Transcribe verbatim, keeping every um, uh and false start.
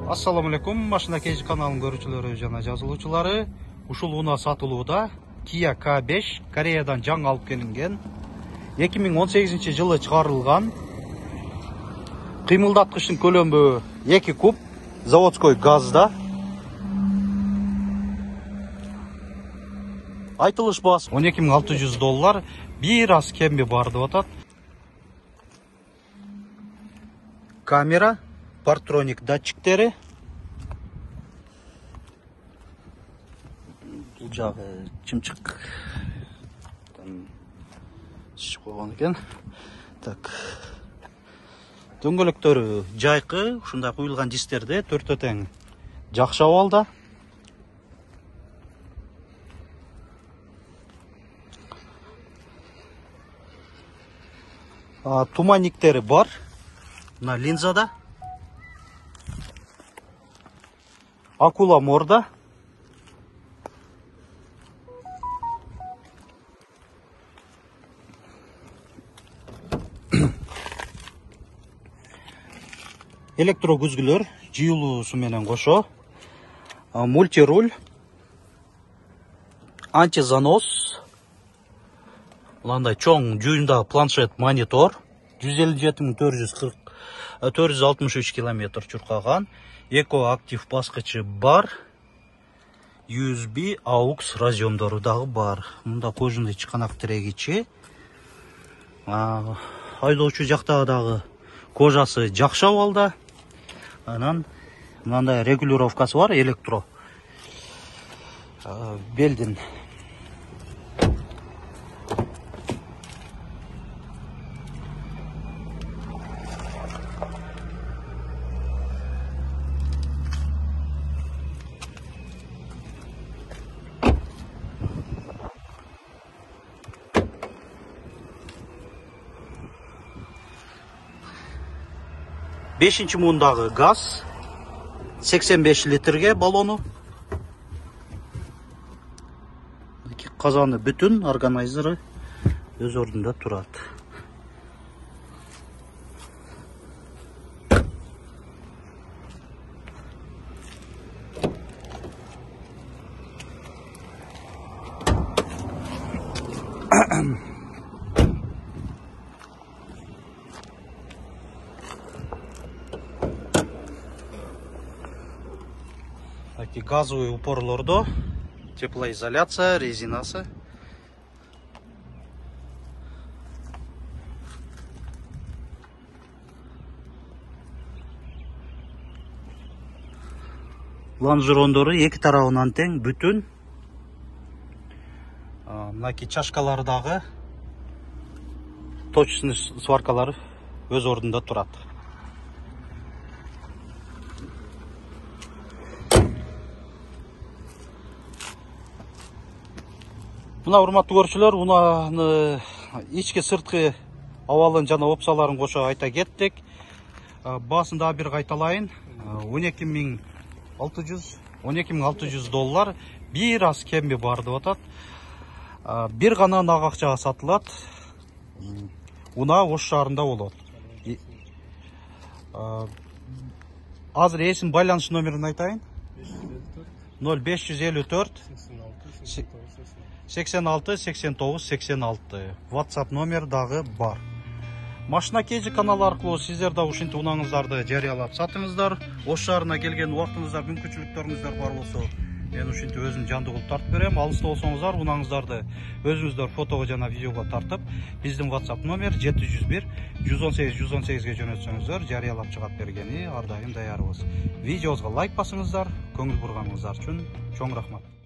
Assalamu alaikum, Машина Кейж каналынын көрүүчүлөрү жана жазылуучулары. Ушул унаа сатылууда Kia K беш Кореядан жаңы алып келинген, эки миң он сегизинчи жылы чыгарылган. Кыймылдаткычтын көлөмү эки куб, заводской газда. Айтылыш баасы он эки миң алты жүз доллар, бир аз кемби бар деп атат. Камера, партроник датчиктери. Бул жагы чымчык чыгып койгон экен. Так. Дөңгөлөктөрү жайкы, ушундай куюлган дистерде төртөө тең жакшы абалда. Туманниктери бар. Мына линзада. Акула морда. Электро күзгүлөр жыйылуусу менен кошо. Мультируль. Антизанос. Мындай чоң жүйүндагы планшет монитор. жүз элүү жети миң төрт жүз алтымыш үч километр чуркаган. Эко актив баскычы бар. ю эс би аукс разъемдору дагы бар. Мында кожундой чыканак тирегичи. Айдоочу жактагы дагы кожасы жакшы абалда. Анан мындай регулировкасы бар, электро. Белдин бешинчи мундагы газ, сексен беш литрге баллону. Казаны бүтүн, органайзеры өз ордунда турат. Газовый упорлордо теплоизоляция, резинасы. Лонжерондору эки тарабынан тең бүтүн. Мынакей чашкалары дагы точечный сваркалары өз ордунда турат. Мына урматтуу көрүүчүлөр, унааны ички сырткы абалын жана опсаларын кошо айта кеттик. Баасын дагы бир кайталайын. он эки миң алты жүз доллар, бир аз кемби бар деп атат. Бир гана нак акчага сатылат. Унаа Ош шаарында болот. Азыр эсим байланыш номерин айтайын. ноль беш жүз элүү төрт сексен алты сексен тогуз сексен алты. WhatsApp номер дагы бар. Машина Кейж каналы аркылуу сиздер да ушинтип унааңыздарды жарыялап сатыңыздар. Ош шаарына келген убактыңыздар, мүмкүнчүлүктөрүңүздөр бар болсо, мен ушинтип өзүм жандуу кылып тартып берем. Алыста болсоңуздар, унааңыздарды өзүңүздөр фотого жана видеого тартып, биздин WhatsApp номер жети жүз бир жүз он сегиз жүз он сегизге жөнөтсөңүздөр, жарыялап чыгат бергени ар дайым даярбыз. Видеобузга лайк басыңыздар, көңүл бурганыңыздар үчүн чоң рахмат.